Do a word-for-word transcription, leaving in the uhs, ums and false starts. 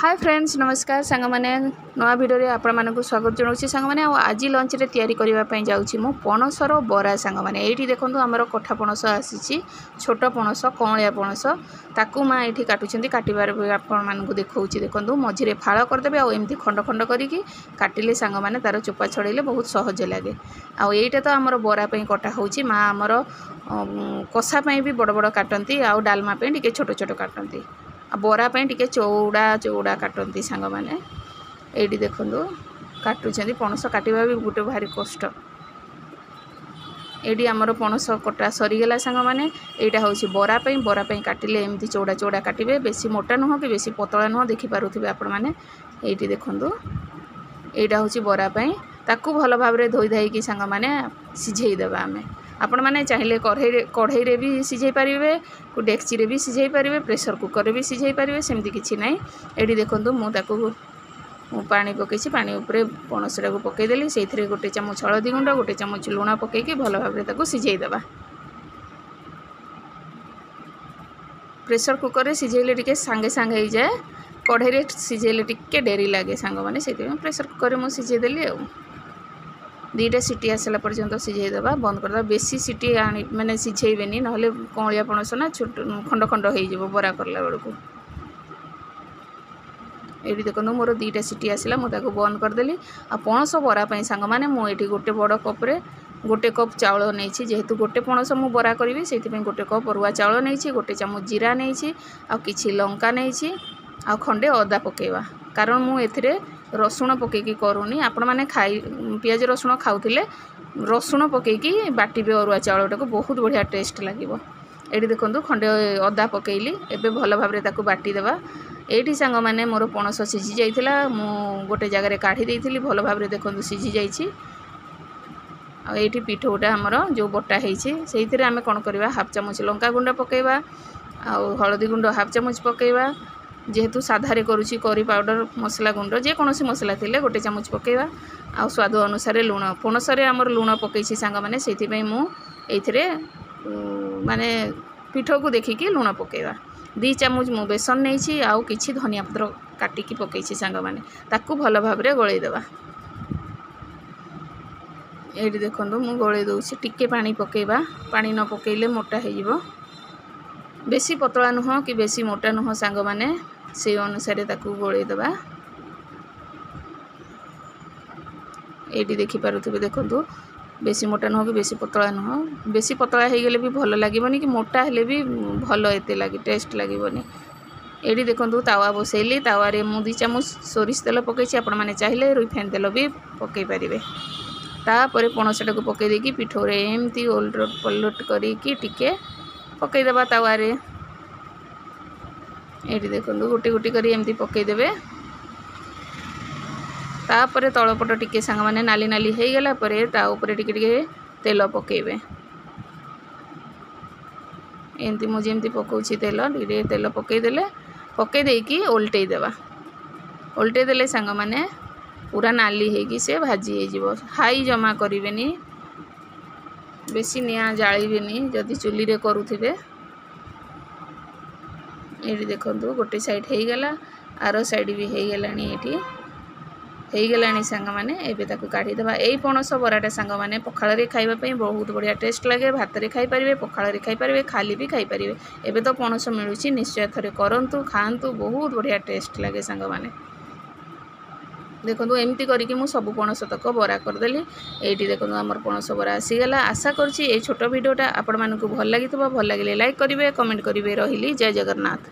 ହାଏ friends, ନମସ୍କାର ସାଙ୍ଗମାନେ। ନୂଆ ଭିଡ଼ିଓରେ ଆପଣମାନଙ୍କୁ ସ୍ୱାଗତ ଜଣାଉଛି ସାଙ୍ଗମାନେ। ଆଉ ଆଜି ଲଞ୍ଚରେ ତିଆରି କରିବା ପାଇଁ ଯାଉଛି ମୁଁ ପଣସର ବରା ସାଙ୍ଗମାନେ। ଏଇଠି ଦେଖନ୍ତୁ, ଆମର କଠା ପଣସ ଆସିଛି, ଛୋଟ ପଣସ, କଅଁଳିଆ ପଣସ। ତାକୁ ମା ଏଇଠି କାଟୁଛନ୍ତି। କାଟିବାର ବି ଆପଣମାନଙ୍କୁ ଦେଖାଉଛି। ଦେଖନ୍ତୁ, ମଝିରେ ଫାଳ କରିଦେବେ ଆଉ ଏମିତି ଖଣ୍ଡ ଖଣ୍ଡ କରିକି କାଟିଲେ ସାଙ୍ଗମାନେ, ତାର ଚୋପା ଛଡ଼େଇଲେ ବହୁତ ସହଜ ଲାଗେ। ଆଉ ଏଇଟା ତ ଆମର ବରା ପାଇଁ କଟା ହେଉଛି। ମା ଆମର କଷା ପାଇଁ ବି ବଡ଼ ବଡ଼ କାଟନ୍ତି ଆଉ ଡାଲମା ପାଇଁ ଟିକେ ଛୋଟ ଛୋଟ କାଟନ୍ତି, ଆଉ ବରା ପାଇଁ ଟିକେ ଚଉଡ଼ା ଚଉଡ଼ା କାଟନ୍ତି ସାଙ୍ଗମାନେ। ଏଇଠି ଦେଖନ୍ତୁ, କାଟୁଛନ୍ତି। ପଣସ କାଟିବା ବି ଗୋଟେ ଭାରି କଷ୍ଟ। ଏଇଠି ଆମର ପଣସ କଟା ସରିଗଲା ସାଙ୍ଗମାନେ। ଏଇଟା ହେଉଛି ବରା ପାଇଁ। ବରା ପାଇଁ କାଟିଲେ ଏମିତି ଚଉଡ଼ା ଚଉଡ଼ା କାଟିବେ, ବେଶୀ ମୋଟା ନୁହଁ କି ବେଶୀ ପତଳା ନୁହଁ। ଦେଖିପାରୁଥିବେ ଆପଣମାନେ। ଏଇଠି ଦେଖନ୍ତୁ, ଏଇଟା ହେଉଛି ବରା ପାଇଁ। ତାକୁ ଭଲ ଭାବରେ ଧୋଇ ଧାଇକି ସାଙ୍ଗମାନେ ସିଝେଇ ଦେବା ଆମେ। ଆପଣମାନେ ଚାହିଁଲେ କଢ଼େଇରେ କଢ଼େଇରେ ବି ସିଝେଇ ପାରିବେ, ଡେକ୍ଚିରେ ବି ସିଝେଇ ପାରିବେ, ପ୍ରେସର କୁକରରେ ବି ସିଝେଇ ପାରିବେ, ସେମିତି କିଛି ନାହିଁ। ଏଇଠି ଦେଖନ୍ତୁ, ମୁଁ ତାକୁ ମୁଁ ପାଣି ପକାଇଛି। ପାଣି ଉପରେ ପଣସଟାକୁ ପକାଇଦେଲି। ସେଇଥିରେ ଗୋଟେ ଚାମଚ ହଳଦୀ ଗୁଣ୍ଡ, ଗୋଟେ ଚାମଚ ଲୁଣ ପକାଇକି ଭଲ ଭାବରେ ତାକୁ ସିଝେଇ ଦେବା। ପ୍ରେସର କୁକରରେ ସିଝେଇଲେ ଟିକେ ସାଙ୍ଗେ ସାଙ୍ଗେ ହେଇଯାଏ, କଢ଼େଇରେ ସିଝେଇଲେ ଟିକେ ଡେରି ଲାଗେ ସାଙ୍ଗମାନେ। ସେଇଥିପାଇଁ ପ୍ରେସର କୁକରରେ ମୁଁ ସିଝେଇ ଦେଲି। ଆଉ ଦୁଇଟା ସିଟି ଆସିଲା ପର୍ଯ୍ୟନ୍ତ ସିଝେଇ ଦେବା, ବନ୍ଦ କରିଦେବା। ବେଶୀ ସିଟି ଆଣି ମାନେ ସିଝେଇବେନି, ନହେଲେ କଅଁଳିଆ ପଣସ ନା, ଛୋଟ ଖଣ୍ଡ ଖଣ୍ଡ ହେଇଯିବ ବରା କଲା ବେଳକୁ। ଏଇଠି ଦେଖନ୍ତୁ, ମୋର ଦୁଇଟା ସିଟି ଆସିଲା, ମୁଁ ତାକୁ ବନ୍ଦ କରିଦେଲି। ଆଉ ପଣସ ବରା ପାଇଁ ସାଙ୍ଗମାନେ, ମୁଁ ଏଇଠି ଗୋଟେ ବଡ଼ କପ୍ରେ ଗୋଟେ କପ୍ ଚାଉଳ ନେଇଛି। ଯେହେତୁ ଗୋଟେ ପଣସ ମୁଁ ବରା କରିବି, ସେଇଥିପାଇଁ ଗୋଟେ କପ୍ ଅରୁଆ ଚାଉଳ ନେଇଛି। ଗୋଟେ ଚାମଚ ଜିରା ନେଇଛି ଆଉ କିଛି ଲଙ୍କା ନେଇଛି ଆଉ ଖଣ୍ଡେ ଅଦା ପକାଇବା, କାରଣ ମୁଁ ଏଥିରେ ରସୁଣ ପକାଇକି କରୁନି। ଆପଣମାନେ ଖାଇ ପିଆଜ ରସୁଣ ଖାଉଥିଲେ ରସୁଣ ପକାଇକି ବାଟିବେ ଅରୁଆ ଚାଉଳଟାକୁ, ବହୁତ ବଢ଼ିଆ ଟେଷ୍ଟ ଲାଗିବ। ଏଇଠି ଦେଖନ୍ତୁ, ଖଣ୍ଡେ ଅଦା ପକାଇଲି। ଏବେ ଭଲ ଭାବରେ ତାକୁ ବାଟିଦେବା। ଏଇଠି ସାଙ୍ଗମାନେ, ମୋର ପଣସ ସିଝି ଯାଇଥିଲା, ମୁଁ ଗୋଟେ ଜାଗାରେ କାଢ଼ି ଦେଇଥିଲି। ଭଲ ଭାବରେ ଦେଖନ୍ତୁ, ସିଝି ଯାଇଛି। ଆଉ ଏଇଠି ପିଠଉଟା ଆମର ଯେଉଁ ବଟା ହେଇଛି, ସେଇଥିରେ ଆମେ କ'ଣ କରିବା? ହାଫ୍ ଚାମଚ ଲଙ୍କା ଗୁଣ୍ଡ ପକାଇବା ଆଉ ହଳଦୀ ଗୁଣ୍ଡ ହାଫ୍ ଚାମଚ ପକାଇବା। ଯେହେତୁ ସାଧାରେ କରୁଛି, କରି ପାଉଡ଼ର, ମସଲା ଗୁଣ୍ଡ, ଯେକୌଣସି ମସଲା ଥିଲେ ଗୋଟେ ଚାମଚ ପକାଇବା ଆଉ ସ୍ୱାଦ ଅନୁସାରେ ଲୁଣ। ପଣସରେ ଆମର ଲୁଣ ପକାଇଛି ସାଙ୍ଗମାନେ, ସେଇଥିପାଇଁ ମୁଁ ଏଇଥିରେ ମାନେ ପିଠକୁ ଦେଖିକି ଲୁଣ ପକାଇବା। ଦୁଇ ଚାମଚ ମୁଁ ବେସନ ନେଇଛି ଆଉ କିଛି ଧନିଆ ପତ୍ର କାଟିକି ପକାଇଛି ସାଙ୍ଗମାନେ। ତାକୁ ଭଲ ଭାବରେ ଗୋଳେଇ ଦେବା। ଏଇଠି ଦେଖନ୍ତୁ, ମୁଁ ଗୋଳେଇ ଦେଉଛି। ଟିକେ ପାଣି ପକାଇବା, ପାଣି ନ ପକାଇଲେ ମୋଟା ହେଇଯିବ। ବେଶୀ ପତଳା ନୁହଁ କି ବେଶୀ ମୋଟା ନୁହଁ ସାଙ୍ଗମାନେ, ସେଇ ଅନୁସାରେ ତାକୁ ଗୋଳେଇ ଦେବା। ଏଇଠି ଦେଖିପାରୁଥିବେ, ଦେଖନ୍ତୁ, ବେଶୀ ମୋଟା ନୁହଁ କି ବେଶୀ ପତଳା ନୁହଁ। ବେଶୀ ପତଳା ହେଇଗଲେ ବି ଭଲ ଲାଗିବନି କି ମୋଟା ହେଲେ ବି ଭଲ ଏତେ ଲାଗି ଟେଷ୍ଟ ଲାଗିବନି। ଏଇଠି ଦେଖନ୍ତୁ, ତାୱା ବସେଇଲି। ତାୱାରେ ମୁଁ ଦୁଇ ଚାମଚ ସୋରିଷ ତେଲ ପକାଇଛି। ଆପଣମାନେ ଚାହିଁଲେ ରିଫାଇନ୍ ତେଲ ବି ପକାଇ ପାରିବେ। ତାପରେ ପଣସଟାକୁ ପକାଇ ଦେଇକି ପିଠଉରେ ଏମିତି ଓଲଟ ପଲଟ କରିକି ଟିକେ ପକାଇଦେବା ତାୱାରେ। ଏଇଠି ଦେଖନ୍ତୁ, ଗୋଟି ଗୋଟି କରି ଏମିତି ପକାଇଦେବେ। ତାପରେ ତଳପଟ ଟିକେ ସାଙ୍ଗମାନେ ନାଲି ନାଲି ହେଇଗଲା ପରେ ତା ଉପରେ ଟିକେ ଟିକେ ତେଲ ପକାଇବେ। ଏମିତି ମୁଁ ଯେମିତି ପକାଉଛି ତେଲ, ଟିକେ ଟିକେ ତେଲ ପକାଇଦେଲେ, ପକାଇ ଦେଇକି ଓଲଟେଇ ଦେବା। ଓଲଟେଇ ଦେଲେ ସାଙ୍ଗମାନେ, ପୁରା ନାଲି ହେଇକି ସେ ଭାଜି ହେଇଯିବ। ହାଇ ଜମା କରିବେନି, ବେଶୀ ନିଆଁ ଜାଳିବେନି ଯଦି ଚୁଲିରେ କରୁଥିବେ। ଏଇଠି ଦେଖନ୍ତୁ, ଗୋଟେ ସାଇଡ଼୍ ହେଇଗଲା, ଆର ସାଇଡ଼୍ ବି ହେଇଗଲାଣି। ଏଇଠି ହେଇଗଲାଣି ସାଙ୍ଗମାନେ, ଏବେ ତାକୁ କାଢ଼ିଦେବା। ଏଇ ପଣସ ବରାଟା ସାଙ୍ଗମାନେ, ପଖାଳରେ ଖାଇବା ପାଇଁ ବହୁତ ବଢ଼ିଆ ଟେଷ୍ଟ ଲାଗେ। ଭାତରେ ଖାଇପାରିବେ, ପଖାଳରେ ଖାଇପାରିବେ, ଖାଲି ବି ଖାଇପାରିବେ। ଏବେ ତ ପଣସ ମିଳୁଛି, ନିଶ୍ଚୟ ଥରେ କରନ୍ତୁ, ଖାଆନ୍ତୁ, ବହୁତ ବଢ଼ିଆ ଟେଷ୍ଟ ଲାଗେ ସାଙ୍ଗମାନେ। ଦେଖନ୍ତୁ, ଏମିତି କରିକି ମୁଁ ସବୁ ପଣସ ତକ ବରା କରିଦେଲି। ଏଇଠି ଦେଖନ୍ତୁ, ଆମର ପଣସ ବରା ଆସିଗଲା। ଆଶା କରୁଛି ଏଇ ଛୋଟ ଭିଡ଼ିଓଟା ଆପଣମାନଙ୍କୁ ଭଲ ଲାଗିଥିବ। ଭଲ ଲାଗିଲେ ଲାଇକ୍ କରିବେ, କମେଣ୍ଟ କରିବେ। ରହିଲି, ଜୟ ଜଗନ୍ନାଥ।